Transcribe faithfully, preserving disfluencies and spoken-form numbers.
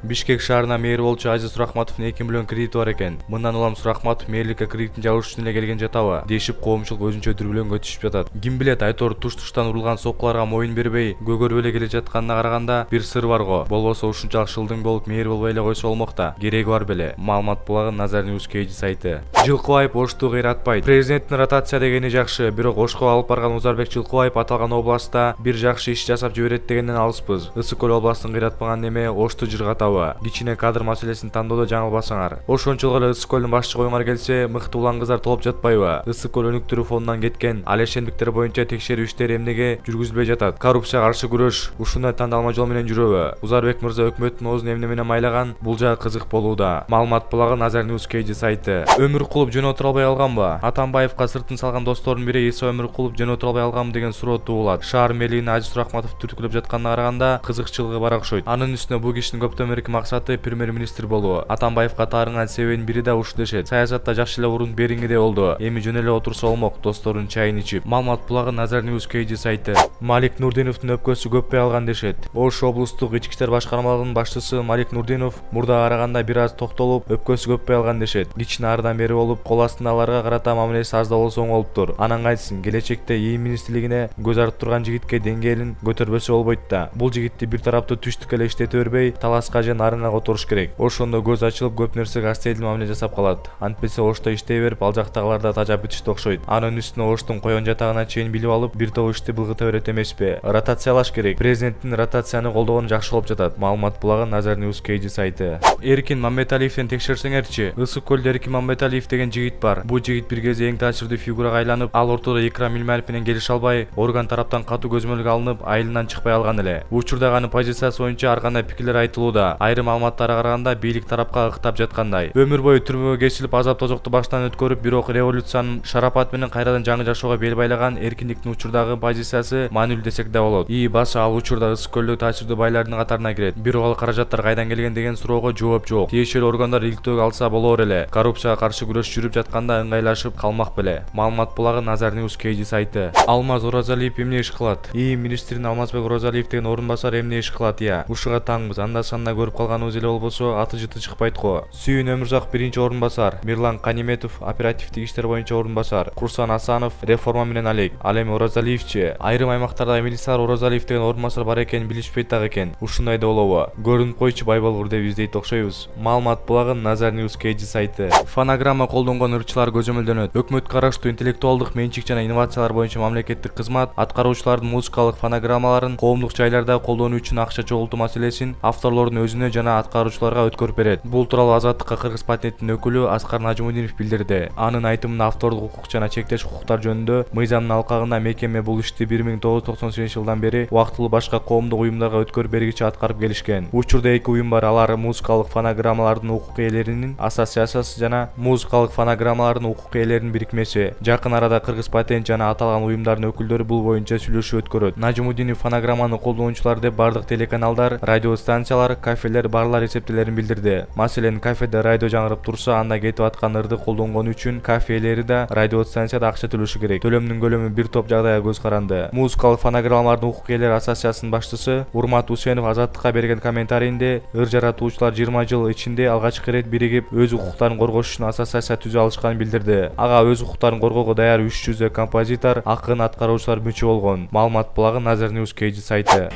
Бишкек шаарына мэр болчу Азиз Сурахматовдун эки миллион кредити бар экен. Мындан улам Сурахматов мэрликке кредиттин жабыш үчүн эле келген жатабы дешип коомчулук өзүнчө дүрбөлөңгө түшүп жатат. Ким билет, Айтор туш-туштан урулган соккуларга моюн бербей, көгөрүп эле келе жатканына караганда бир сыр бар го. Болбосо ушунчалык шылдың болуп мэр болбой эле койсо болмок да. Кереги бар беле. Маалымат булагы Назар News Kg сайты. Жылкыбаев Ошту кыйратпайт. Президенттин ротация дегени жакшы, бирок Ошко алып барган Узарбек Жылкыбаев аталган областта бир жакшы иш жасап жиберет дегенден алыспыз. Ысык көл областын кыйратпаган неме Ошту жыргатабы? Кичине кадр маселесин тандоодо жаңылбасаңар. Ошончолук эле Ысык көлдүн башчы коюңар келсе, мыкты улан кыздар толуп жатпайбы? Ысык көл өнүктүрүү фондунан кеткен ал ишендиктер боюнча текшерүү иштери эмнеге жүргүзүлбөй жатат? Коррупцияга каршы күрөш ушундай тандалма жол менен жүрөбү? Узарбек мырза өкмөттүн оозун эмне менен майлаган? Бул жагы кызык болууда. Маалымат булагы Назар News Kg сайты. Өмүркулов жөн отура албай алганбы? Атамбаевка сыртын салган достордун бири Иса Өмүркулов жөн отура албай алганбы деген суроо туулат. Шаар мэрлигине Азиз Сурахматов түрткүлөп жатканына караганда кызыкчылыгы бар окшойт. Анын үстүнө бул кишинин көптөн берки максаты премьер-министр болуу. Атамбаевка таарынган себебинин бири да ушул дешет. Саясатта жакшы эле урун бериңиде болду. Эми жөн эле отурса болмок, досторунун чайын ичип. Маалымат булагы Назар News Kg сайты. Малик Нурдиновдун өпкөсү көппөй алган дешет. Ош облустук ички иштер башкармалыгынын башчысы Малик Нурдинов мурдага караганда бир аз токтолуп, өпкөсү көппөй алган дешет. Кичине ардан бери болуп, кол астындагыларга карата мамилеси аз да болсо оңолуптур. Анан кайтсын, келечекте ИИМ министрлигине көз артып турган жигитке деңгээлин көтөрбөсө болбойт да. Бул жигитти бир тараптуу түштүк эле иштете бербей, таласка же нарынга которуш керек. Ошондо көз ачылып, көп нерсеге астейдил мамиле жасап калат. Антпесе Ошто иштей берип, ал жактагылар да тажап бүтүштү окшойт. Анын үстүнө Оштун коен жатагына чейин билип алып, бир топ ишти былгыта берет эмеспи? Ротациялаш керек. Президенттин ротацияны колдогону жакшы болуп жатат. Маалымат булагы Назар News Kg сайты. Эркин Мамбеталиевден текшерсеңерчи. Ысык көлдө Эркин Мамбеталиев деген жигит бар. Бул жигит бир кезде эң таасирдүү фигурага айланып, ал ортодо Икрам Милмаев менен келише албай, орган тараптан катуу көзөмөлгө алынып, айылынан чыкпай алган эле. Учурда анын позициясы боюнча ар кандай пикирлер айтылууда. Айрым маалыматтарга караганда бийлик тарапка ыктап жаткандай. Өмүр бою түрмөгө кесилип, азап тозокту баштан өткөрүп, бирок революциянын шарапаты менен кайрадан жаңы жашоого бел байлаган Эркиндиктин учурдагы позициясы маанилүү десек да болот. И баса ал учурда Ысык көлдө таасирдүү байлардын катарына кирет. Бирок ал каражаттар кайдан келген деген суроого жооп жок. Тиешелүү органдар иликтөөгө алса болор эле. Коррупцияга каршы күрөш жүрүп жатканда ыңгайлашып калмак беле. Маалымат булагы Назар News Kg сайты. Алмаз Оразалиев эмне иш кылат? ИИМ министринин Алмазбек Оразалиев деген орун басар эмне иш кылат? Я, ушуга таңбыз. Анда санда көрүп калганыбыз эле болбосо аты жыты чыкпайт го. Сүйүн Өмүрзак биринчи орун басар, Мирлан Каниметов оперативдик иштер боюнча орун басар, Курсан Асанов реформа менен алек. Ал эми Оразалиевчи? Айрым аймактарда милициялар Оразалиев деген орун басар бар экенин билишпейт так экен. Ушундай да болобу? Көрүнүп койчу бай болгур деп издейт окшойбуз. Маалымат булагы Назар News Kg сайты. Фонограмма колдонгон ырчылар көзөмөлдөнөт. Өкмөткө караштуу интеллектуалдык менчик жана инновациялар боюнча мамлекеттик кызмат аткаруучулардын музыкалык фонограммаларын коомдук жайларда колдонуу үчүн акча чогултуу маселесин авторлордун өзүнө жана аткаруучуларга өткөрүп берет. Бул тууралуу Азаттыкка Кыргыз патенттин өкүлү Аскар Нажмудинов билдирди. Анын айтымында автордук укук жана чектеш укуктар жөнүндө мыйзамдын алкагында мекеме бул ишти бир миң тогуз жүз токсон сегизинчи жылдан бери убактылуу башка коомдук уюмдарга өткөрүп бергиче аткарып келишкен. Учурда эки уюм бар. Алар музыкалык фонограммалардын укук ээлеринин ассоциациясы жана музыкалык фонограммалардын укук ээлеринин бирикмеси. Жакын арада Кыргыз патент жана аталган уюмдардын өкүлдөрү бул боюнча сүйлөшүү өткөрөт. Нажмудинов фонограмманы колдонуучулар деп бардык телеканалдар, радио станциялар, кафелер, барлар эсептелерин билдирди. Маселен, кафеде радио жаңырып турса, анда кетип аткан ырды колдонгону үчүн кафе ээлери да, радио станцияда акча төлөшү керек. Төлөмдүн көлөмү бир топ жагдайга көз каранды. Музыкалык фонограммалардын укук ээлери ассоциациясынын башчысы Урмат Усенов Азаттыкка берген комментарийинде ыр жаратуучулар жыйырма жыл ичинде алгачкы ирет биригип өз укуктарын коргош үчүн ассоциация түзө алышканын билдирди. Ага өз укуктарын коргоого даяр үч жүздөй композитор, акын, аткаруучулар мүчө болгон. Маалымат булагы Назар News Kg сайты.